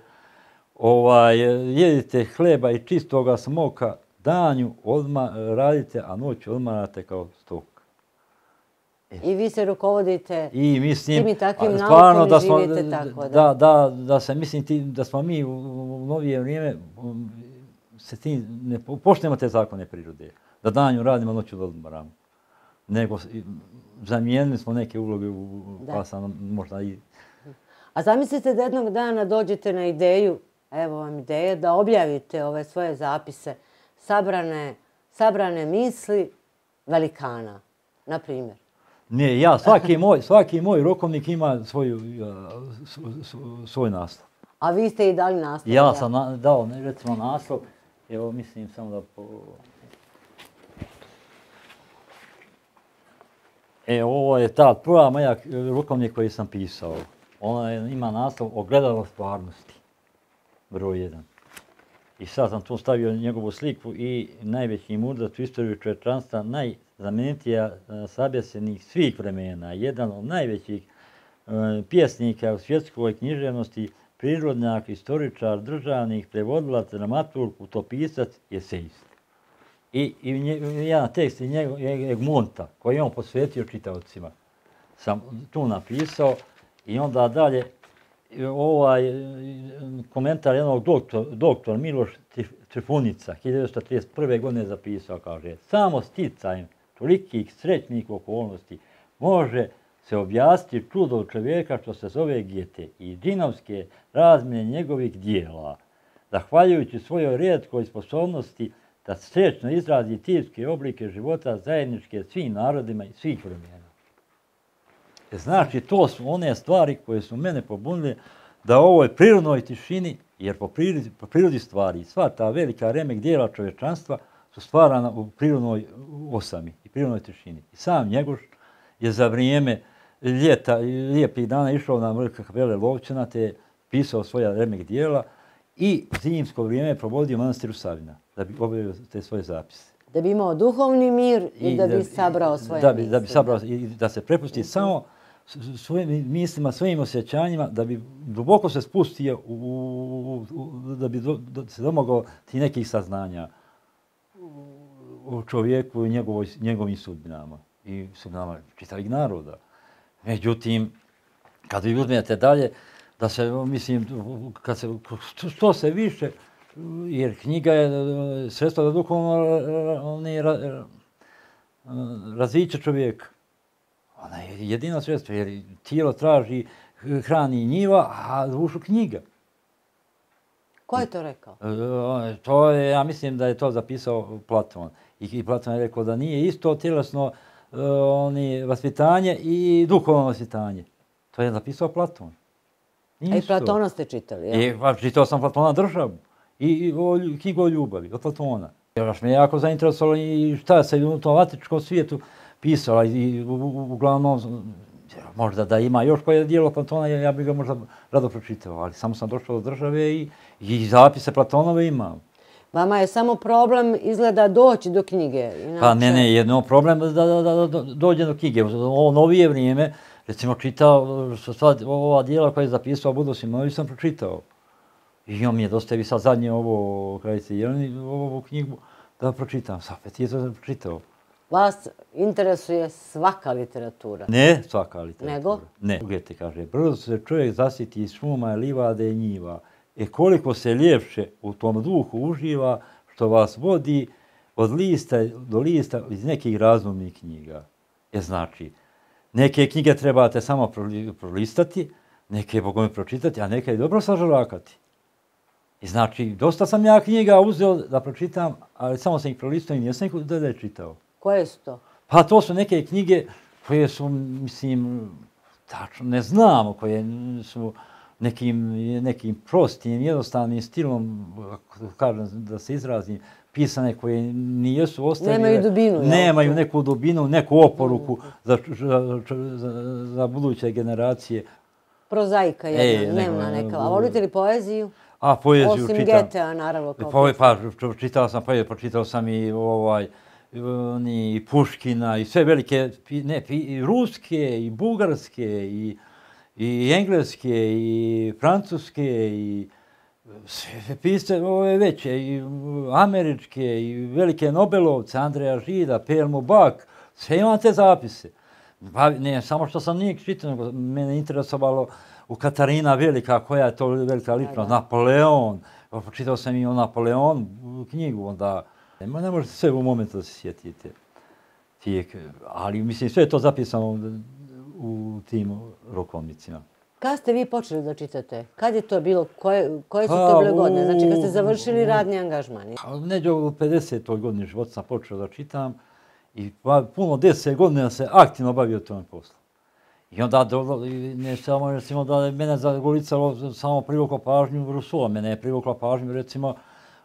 jedite hleba i čistoga smoka, danju odmah radite, a noću odmarate kao stok. I vi se rukovodite tim i takvim naukom i živite tako. Da se mislim da smo mi u novije vrijeme se tim ne poštujemo te zakone prirode. Da danju radimo, noću odmaramo. Nego zamijenili smo neke uloge pa sam možda i... A zamislite da jednog dana dođete na ideju, evo vam ideja, da objavite ove svoje zapise, sabrane misli velikana, na primjer. Ne, svaki moj rokovnik ima svoj naslov. A vi ste i dali naslov? Ja sam dao, recimo, naslov, evo mislim samo da... Ovo je ta prva moja rokovnik koji sam pisao. Ona ima naslov Ogledalo stvarnosti, broj 1. I sad sam tu stavio njegovu sliku i najveći mudrac u istoriju čovječanstva, najznamenitija sabjesenih svih vremena, jedan od najvećih pjesnika u svjetskoj književnosti, prirodnjak, istoričar, državnik, prevodilac, dramaturg, utopisac, esejist. I jedan tekst Egmonta, koji je on posvetio čitaocima, sam tu napisao i onda dalje komentar jednog doktora Miloš Trifunica, 1931. godine zapisao, kaže, samo sticajem tolikih srećnih okolnosti može se objasniti čudo čovjeka što se zove Gete i džinovske razmjene njegovih dijela, zahvaljujući svojoj rijetkoj sposobnosti da srećno izrazi tipske oblike života zajedničke svim narodima i svih vremena. Znači, to su one stvari koje su mene pobunile da u ovoj prirodnoj tišini, jer po prirodi stvari, sva ta velika remek dijela čovječanstva su stvarana u prirodnoj osami i prirodnoj tišini. I sam Njegoš je za vrijeme ljeta, lijepih dana išao na vrh kapele Lovćena, te je pisao svoja remek dijela i zimsko vrijeme je provodio u manastiru Savina, da bi obavio te svoje zapise. Da bi imao duhovni mir i da bi sabrao svoje misli. Da bi sabrao i da se prepusti samo svojim mislima, svojim osjećanjima, da bi duboko se spustio, da bi se domogao ti nekih saznanja o čovjeku i njegovim sudbinama i sudbinama čitavih naroda. Međutim, kad vi uzmete dalje, da se, mislim, što se više, jer knjiga je sredstvo za duhovno razviće čovjeka. Ona je jedino sredstvo, jer tijelo traži, hrani njiva, a dušu knjiga. Ko je to rekao? Ja mislim da je to zapisao Platon. I Platon je rekao da nije isto tjelesno vaspitanje i duhovno vaspitanje. To je zapisao Platon. A i Platona ste čitali, ja? Čitao sam Platona Državu i knjigu o ljubavi, od Platona. Još me jako zainteresovalo i šta se u tom antičkom svijetu pisala i uglavnom, možda da ima još koje dijelo Platona, ja bih ga možda rado pročitao, ali samo sam došao do Države i zapise Platonove imam. Vama je samo problem izgleda doći do knjige. Pa ne, jedno problem da dođe do knjige. U ovo novije vrijeme, recimo čitao, ova dijela koja je zapisao Budro Simonović sam pročitao. I on mi je dostavio sad zadnje ovo, Kraljice Jeleni, ovu knjigu da pročitam. Sad opet je to pročitao. Vas interesuje svaka literatura? Ne svaka literatura. Nego? Ne. Gete kaže, brzo se čovjek zasiti iz šuma, livade i njiva. Koliko se ljepše u tom duhu uživa što vas vodi od lista do lista iz nekih razumnih knjiga. Znači, neke knjige trebate samo prolistati, neke bogome pročitati, a neke dobro sažalakati. I znači, dosta sam ja knjiga uzeo da pročitam, ali samo sam ih prolistao i nisam ih da čitao. Koje su to? Pa to su neke knjige koje su, mislim, tačno ne znamo, koje su nekim prostim, jednostavnim stilom, kažem da se izrazim, pisane koje nijesu ostavile. Nemaju dubinu. Nemaju neku dubinu, neku oporuku za buduće generacije. Prozaika jedna, dnevna neka. A volite li poeziju? A poeziju osim čitam. Getea, naravno. Čitao sam poeziju, pročitao sam i Puškina i sve velike, i ruske, i bugarske, i engleske, i francuske, i sve pisce ove veće, i američke, i velike Nobelovce, Andreja Žida, P.L. Mubak, sve imam te zapise. Ne, samo što sam nije čitao, nego mene interesovalo u Katarina Velika, koja je to velika ličnost, Napoleon, čitao sam i o Napoleonu knjigu, onda ne možete sve u momentu da se sjetite. Ali mislim, sve je to zapisano u tim rokovnicima. Kada ste vi počeli da čitate? Kad je to bilo? Koje su to bile godine? Znači, kad ste završili radni angažman? Neđe u 50. godini života sam počeo da čitam i puno 10 godina se aktivno bavio tom poslu. I onda, ne samo recimo da je mene zagolicalo samo privuklo pažnju Rousseau, mene je privukla pažnju recimo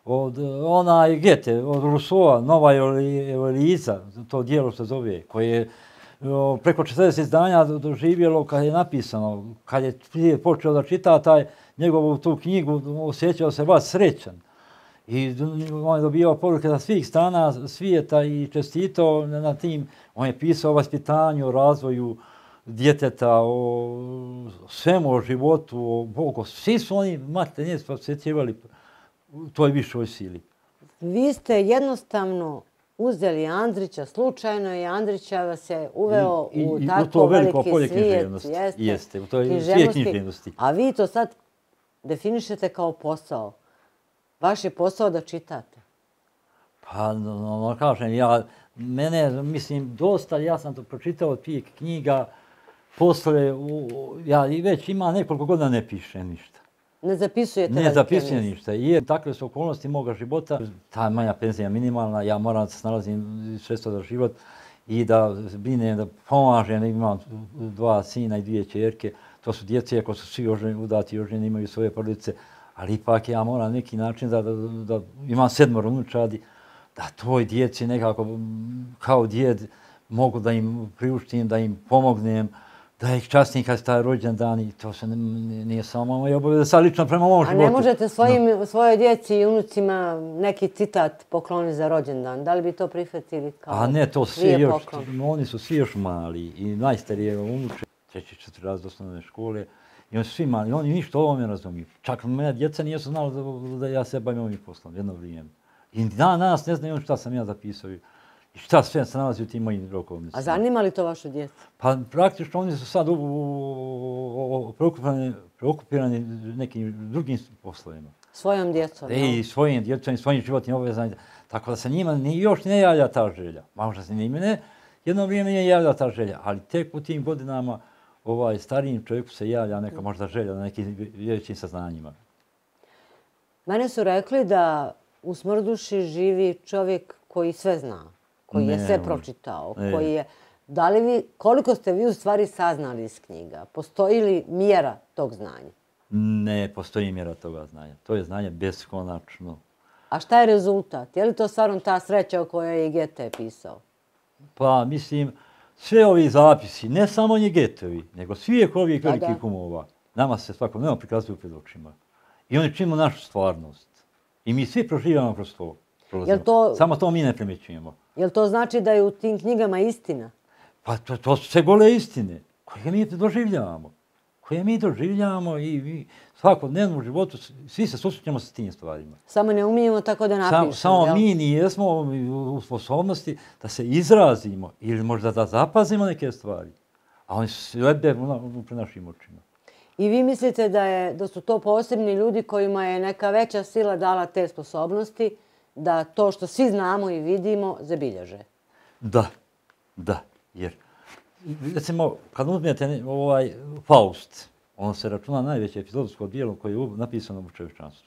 od onaj Goethe, od Rousseau, Nova Eliza, to dijelo se zove, koje je preko 40 izdanja doživjelo kad je napisano, kad je počeo da čita taj njegovu tu knjigu, osjećao se baš srećan. I on je dobijao poruke sa svih strana svijeta i čestitao na tim. On je pisao o vaspitanju, o razvoju djeteta, o svemu, o životu, o Bogu. Svi su oni materinje posjećivali toj višoj sili. Vi ste jednostavno uzeli Andrića slučajno i Andrića vas je uveo u tako veliki svijet. Jeste, u toj svijet književnosti. A vi to sad definišete kao posao. Vaš je posao da čitate. Pa, kažem, mene, mislim, dosta, ja sam to pročitao tih knjiga, posle, ja već ima nekoliko godina ne pišem ništa. Ne zapisujete Ne zapisujem ništa, jer takve su okolnosti moga života. Ta moja penzija je minimalna, ja moram da se snalazim sredstva za život i da brinem, da pomažem, imam 2 sina i 2 ćerke. To su djece, ako su svi udati i oženi, imaju svoje porodice, ali ipak ja moram neki način da imam 7 unučadi, da toj djeci nekako kao djed mogu da im priuštim, da im pomognem, da ih častim kad je taj rođendan i to se nije samo moja obaveza, sad lično prema mom životu. A ne možete svojoj djeci i unucima neki citat pokloniti za rođendan? Da li bi to prihvatili kao a ne, to svi još, oni su svi još mali i najstarije unuče, 3-4 razred osnovne škole, i oni su svi mali, oni ništa o ovome razumiju. Čak moja djeca nisu znala da ja se bavim ovim poslom jedno vrijeme. I danas ne znaju šta sam ja zapisao i šta sve se nalazi u tim mojim rokovnicama. A zanima li to vašu djecu? Pa praktično oni su sad preokupirani nekim drugim poslovima. Svojom djecom? I svojim djecom i svojim životnim obavezama. Tako da se njima još ne javlja ta želja. Možda se njima jedno vrijeme nije javlja ta želja, ali tek u tim godinama starijim čovjeku se javlja neka možda želja na nekim većim saznanjima. Mene su rekli da u Smrduši živi čovjek koji sve zna, koji je sve pročitao, koji je... Koliko ste vi u stvari saznali iz knjiga? Postoji li mjera tog znanja? Ne postoji mjera toga znanja. To je znanje beskonačno. A šta je rezultat? Je li to stvarno ta sreća o kojoj je i Goethe pisao? Pa mislim, sve ovi zapisi, ne samo ni Goetheovi, nego svih ovih velikih umova, nama se svakodnevno prikazuju pred očima. I oni činimo našu stvarnost. I mi svi proživamo kroz to. Samo to mi ne primjećujemo. Jel to znači da je u tim knjigama istina? Pa to su sve gole istine koje mi doživljavamo i svakodnevno u životu svi se susrećemo sa tim stvarima. Samo ne umijemo tako da napišemo. Samo mi nijesmo u sposobnosti da se izrazimo ili možda da zapazimo neke stvari. A oni su lebde pred našim očima. I vi mislite da su to posebni ljudi kojima je neka veća sila dala te sposobnosti da to što svi znamo i vidimo zabilježe? Da, jer recimo kad uzmete Faust, on se računa najveće filozofsko djelo koje je napisano u čovječanstvu.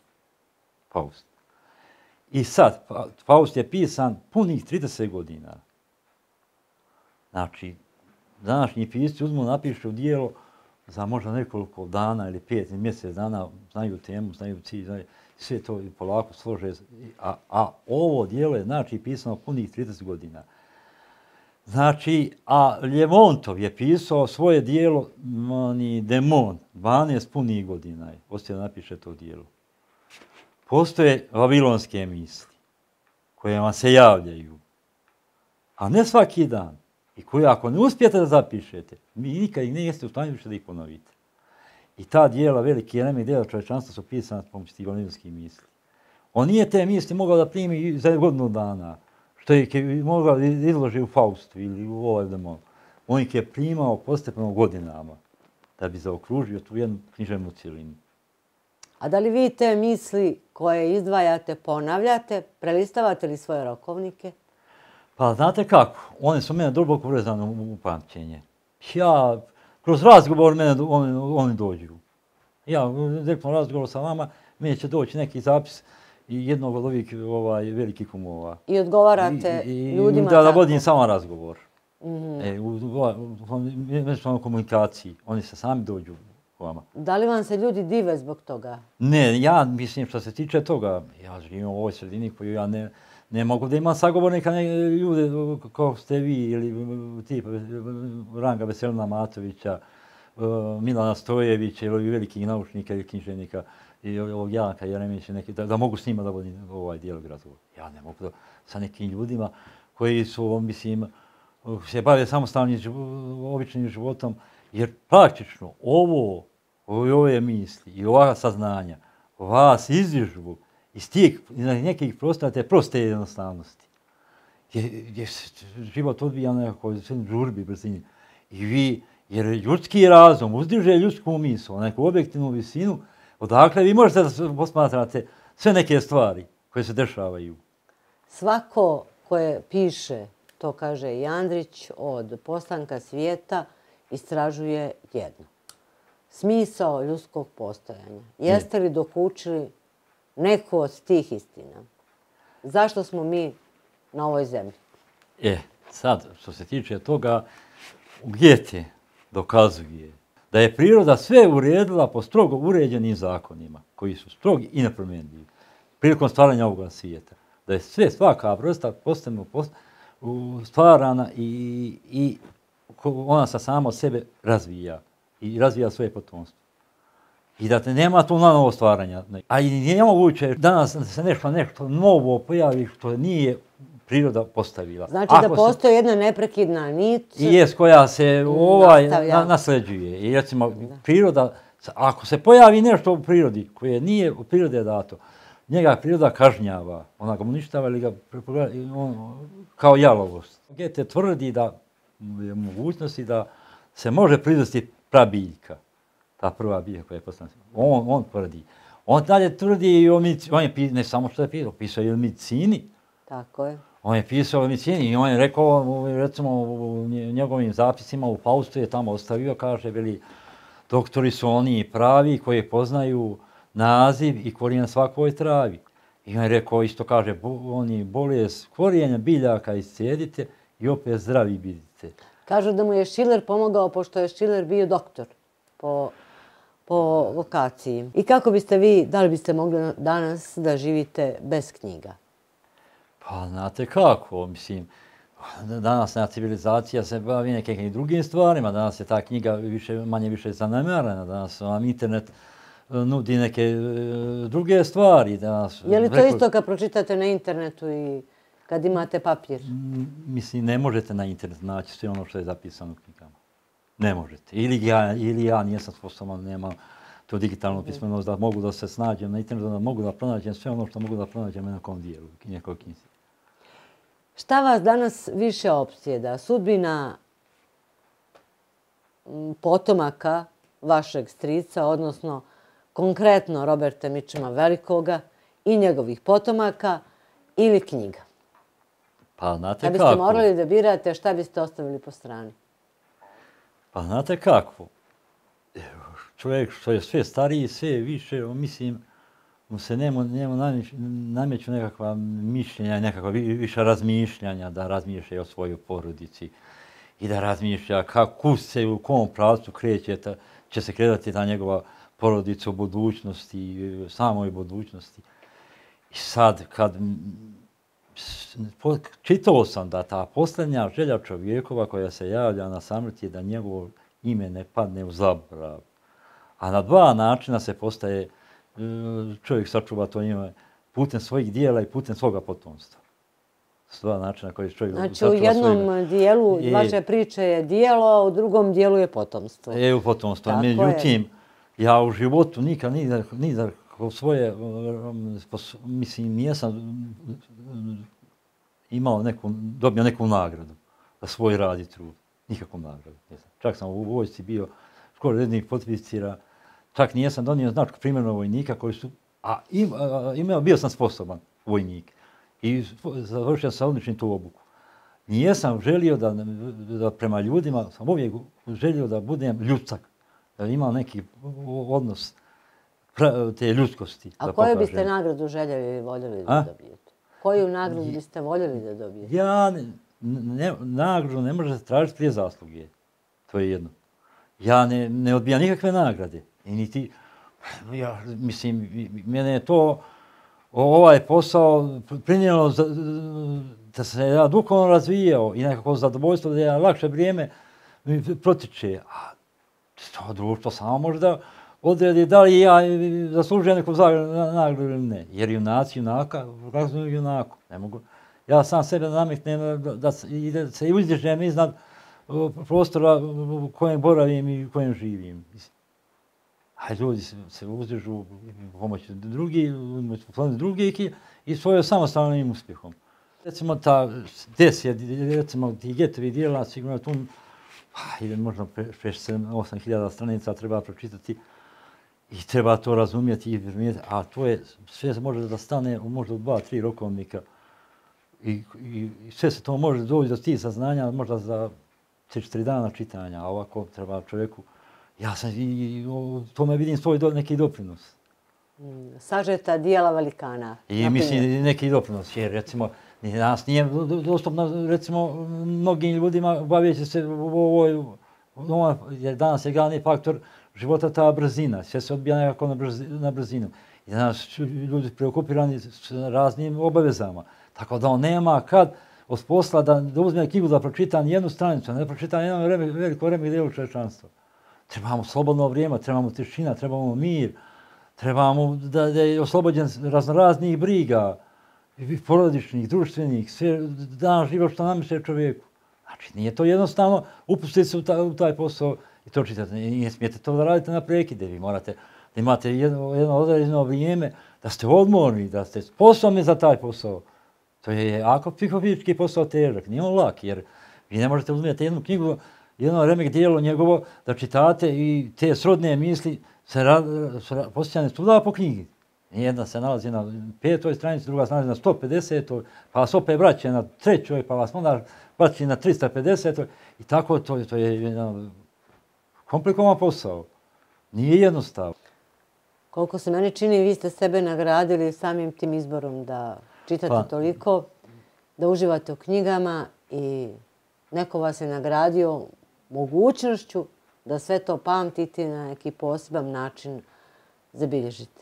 Faust. I sad, Faust je pisan punih 30 godina. Znači, današnji pisci napišu djelo za možda nekoliko dana ili 5 mjesec dana, znaju temu, znaju cilj, sve to polako slože, a ovo dijelo je, znači, pisano punih 30 godina. Znači, a Ljevontov je pisao svoje dijelo, Demon, 12 punih godina je, poslije da napiše to dijelo. Postoje vavilonske misli, koje vam se javljaju, a ne svaki dan, i koje ako ne uspijete da zapišete, vi nikad ih niste u stanju više da ih ponovite. I ta dijela, veliki remek dijela čovječanstva su pisana pomoću tih vavilonskih misli. On nije te misli mogao da primi za godinu dana, što je mogao da izloži u Faustu ili u ovaj Demon. On ih je primao postepeno godinama da bi zaokružio tu jednu književnu cijelinu. A da li vi te misli koje izdvajate, ponavljate, prelistavate li svoje rokovnike? Pa znate kako, one su mene duboko urezane u pamćenje. Ja, kroz razgovor mene oni dođu. Ja, direktno razgovor sa vama, meni će doći neki zapis jednog od ovih velikih umova. I odgovarate ljudima tako? Da vodim samo razgovor. U međusobnoj komunikaciji. Oni se sami dođu k vama. Da li vam se ljudi dive zbog toga? Ne, ja mislim što se tiče toga, ja živim u ovoj sredini koju ja ne mogu da imam sagovornika ljude kao ste vi ili tipa Ranga Veselina Matovića, Milana Stojevića ili velikih naučnika ili književnika i ovog Janka Jeremića, da mogu s njima da vodim ovaj dijalog razgovor. Ja ne mogu sa nekim ljudima koji su, mislim, se bave samostalnim običnim životom, jer praktično ove misli i ova saznanja vas izdižu iz tih nekih prostora te proste jednostavnosti. Gdje se život odvija nekako u žurbi, brzini. I vi, jer ljudski razum uzdiže ljudsku misl, neku objektivnu visinu, odakle vi možete da posmatrate sve neke stvari koje se dešavaju. Svako koje piše, to kaže i Andrić, od postanka svijeta istražuje jedno. Smisao ljudskog postojanja. Jeste li dokučili neku od tih istina? Zašto smo mi na ovoj zemlji? Sad, što se tiče toga, Goethe dokazuje da je priroda sve uredila po strogo uređenim zakonima, koji su strogi i nepromjenljivi, prilikom stvaranja ovoga svijeta. Da je svaka vrsta postepeno stvarana i ona se sama od sebe razvija i razvija svoje potomstvo. I da nema tu novo stvaranja. A i nije moguće danas da se nešto novo pojavi što nije priroda postavila. Znači da postoji jedna neprekidna nit koja se nasleđuje. I recimo, priroda, ako se pojavi nešto u prirodi koje nije u prirode dato, njega priroda kažnjava, ona ga uništava ili ga kao jalovost. Goethe tvrdi da je mogućnosti da se može proizvesti prabiljka, ta prva biljka koja je postala. On tvrdi. On dalje tvrdi i on je ne samo što je pisao i o medicini. Tako je. On je pisao o medicini i on je rekao, recimo u njegovim zapisima u Faustu je tamo ostavio, kaže, veli, doktori su oni pravi koji poznaju naziv i korijen svakoj travi. I on je rekao, isto kaže, oni bolest korijenja biljaka iscijedite i opet zdravi bidite. Kažu da mu je Schiller pomogao, pošto je Schiller bio doktor po vokaciji. I kako biste vi, da li biste mogli danas da živite bez knjiga? Pa, znate kako, mislim, današnja civilizacija se bavi nekim drugim stvarima, danas je ta knjiga manje više zanemarena, danas vam internet nudi neke druge stvari. Je li to isto kad pročitate na internetu i kad imate papir? Mislim, ne možete na internet naći sve ono što je zapisano u knjigama. Ne možete. Ili ja nisam sposoban, nemam to digitalno pismenost da mogu da se snađem na internetu, da mogu da pronađem sve ono što mogu da pronađem na nekom dijelu, nekoj knjizi. Šta vas danas više opsjeda? Sudbina potomaka vašeg strica, odnosno konkretno Roberta Mitchuma Velikoga i njegovih potomaka ili knjiga? Pa znate kako? Kad biste morali da birate, šta biste ostavili po strani? Pa znate kako? Čovjek što je sve stariji, sve više, mislim, mu se njemu nameću nekakva mišljenja, nekakva više razmišljanja, da razmišlja o svojoj porodici i da razmišlja kako se u kom pravcu će se kretati ta njegova porodice, o budućnosti, samoj budućnosti. I sad, kad čitao sam da ta posljednja želja čovjekova koja se javlja na samrti je da njegovo ime ne padne u zaborav. A na dva načina se postaje, čovjek sačuva to ime putem svojih dijela i putem svoga potomstva. S dva načina koji čovjek sačuva svoje ime. Znači u jednom dijelu vaše priče je dijelo, a u drugom dijelu je potomstvo. U potomstvo. Međutim, ja u životu nikad svoje, mislim, nijesam dobio neku nagradu za svoj rad i trud. Nikakvu nagradu. Čak sam u vojsci bio skoro rednih potpisira, čak nijesam donio značku primjernog vojnika koji su, bio sam sposoban vojnik i završio sam odličnim tu obuku. Nijesam želio da prema ljudima, sam uvijek želio da budem ljudsak, da imam neki odnos te ljudskosti. A koju biste nagradu željeli i voljeli da dobijete? Koju nagradu biste voljeli da dobijete? Ja nagradu ne možete tražiti prije zasluge. To je jedno. Ja ne odbijam nikakve nagrade. Mislim, mene je to ovaj posao prinijelo da se ja duhovno razvijao i nekako zadovoljstvo da ja lakše vrijeme mi protiče. A to društvo samo može da odredi da li ja zaslužujem neku nagradu ili ne. Jer junaci junaka ukazuju junaku. Ne mogu. Ja sam sebe nametnem da se uzdižem iznad prostora u kojem boravim i u kojem živim. A ljudi se uzdižu pomoću drugih i svojom samostalnim uspjehom. Recimo ti getovi dijela, sigurno tu možda 6-8 hiljada stranica treba pročitati i treba to razumjeti, a to je sve može da stane možda u 2-3 rokovnika. I sve se to može doći do tih saznanja možda za 3-4 dana čitanja, a ovako treba čovjeku, ja sam i u tome vidim svoj neki doprinos. Sažeta dijela velikana. I mislim neki doprinos, jer recimo nas nije dostupno, recimo mnogim ljudima bavijeći se jer danas je glavni faktor života ta brzina, sve se odbija nekako na brzinu. I danas ljudi preokupirani s raznim obavezama. Tako da on nema kad od posla da uzme knjigu da pročita nijednu stranicu, ne pročita nijedno veliko vreme djelu čovječanstva. Trebamo slobodno vrijeme, trebamo tišina, trebamo mir, trebamo da je oslobođen raznoraznih briga, porodičnih, društvenih, sve dan život što namiše čovjeku. Znači nije to jednostavno upustiti se u taj posao i to čitati. Ne smijete to da radite na prekide, vi morate da imate jedno određeno vrijeme, da ste odmorni, da ste sposobni za taj posao. To je jako psihofizički posao težak, nije on lak, jer vi ne možete uzmeti jednu knjigu, jedno remek dijelo njegovo, da čitate i te srodne misli se posjećane svuda po knjigi. Jedna se nalazi na 5. stranici, druga se nalazi na 150. Pa vas opet vraća na 3. pa vas onda vraća na 350. I tako to je jedan komplikovan posao. Nije jednostavno. Koliko se meni čini, vi ste sebe nagradili samim tim izborom da čitate toliko, da uživate u knjigama i neko vas je nagradio mogućnošću da sve to pamtite na neki poseban način zabilježite.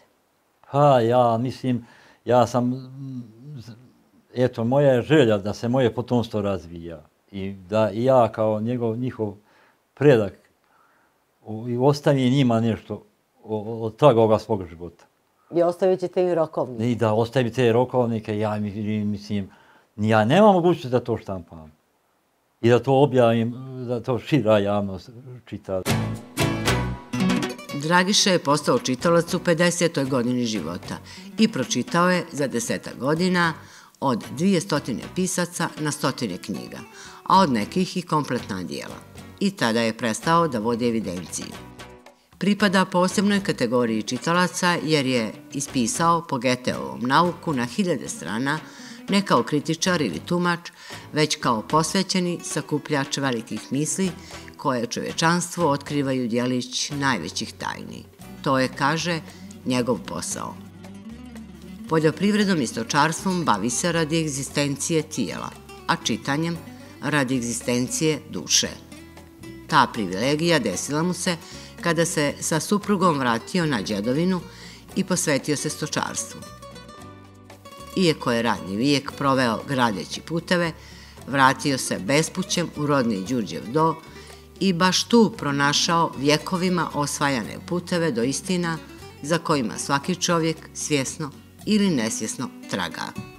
Pa ja mislim, moja je želja da se moje potomstvo razvija i da i ja kao njihov predak i ostavim njima nešto od toga svoga života. I ostavit ćete im rokovnike. I da ostavim te rokovnike, ja mislim, ja nemam mogućnost da to štampam. I da to objavim, da to šira javnost čita. Dragiša je postao čitalac u 50. godini života i pročitao je za 10 godina od 200 pisaca na 100 knjiga, a od nekih i kompletna dijela. I tada je prestao da vodi evidenciju. Pripada posebnoj kategoriji čitalaca jer je ispisao po Goetheovom nauku na 1000 strana, ne kao kritičar ili tumač, već kao posvećeni sakupljač velikih misli koje čovječanstvo otkrivaju djelić najvećih tajni. To je, kaže, njegov posao. Poljoprivredom i stočarstvom bavi se radi egzistencije tijela, a čitanjem radi egzistencije duše. Ta privilegija desila mu se kada se sa suprugom vratio na Đedovinu i posvetio se stočarstvu. Iako je radni vijek proveo gradeći puteve, vratio se bespućem u rodni Đurđev Do i baš tu pronašao vjekovima osvajane puteve do istina za kojima svaki čovjek svjesno ili nesvjesno traga.